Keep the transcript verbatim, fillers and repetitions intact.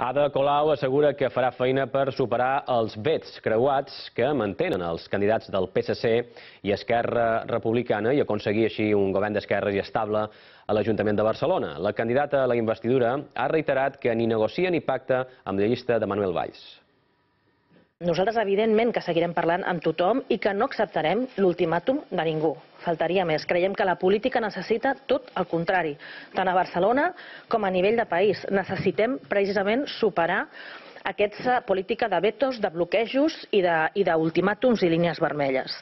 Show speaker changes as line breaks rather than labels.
Ada Colau assegura que farà feina per superar els vets creuats que mantenen els candidats del P S C i Esquerra Republicana i aconseguir així un govern d'esquerres i estable a l'Ajuntament de Barcelona. La candidata a la investidura ha reiterat que ni negocia ni pacta amb la llista de Manuel Valls.
Nosaltres, evidentment, que seguirem parlant amb tothom i que no acceptarem l'ultimàtum de ningú. Faltaria més. Creiem que la política necessita tot el contrari. Tant a Barcelona com a nivell de país. Necessitem precisament superar aquesta política de vetos, de bloquejos i d'ultimàtums i línies vermelles.